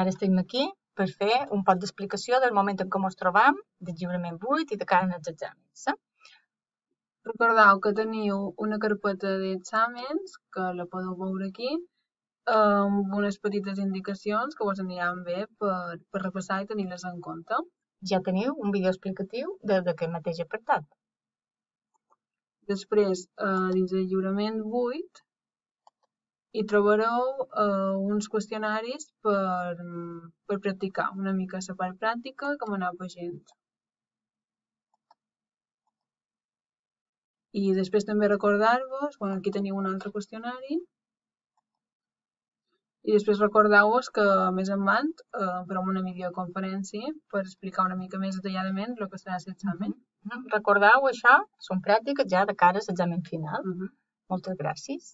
Ara estem aquí per fer un poc d'explicació del moment en què ens trobam, del lliurament 8 i de cara als exàmens. Recordeu que teniu una carpeta d'exàmens, que la podeu veure aquí, amb unes petites indicacions que vos aniran bé per repassar i tenir-les en compte. Ja teniu un vídeo explicatiu d'aquest mateix apartat. Després, dins del lliurament 8, hi trobareu uns qüestionaris per practicar una mica la part pràctica i com anar pagint. I després també recordar-vos, aquí teniu un altre qüestionari, i després recordeu-vos que més endavant farem una videoconferència per explicar una mica més detalladament el que serà l'examen. Recordeu això, són pràctiques ja de cara a l'examen final. Moltes gràcies.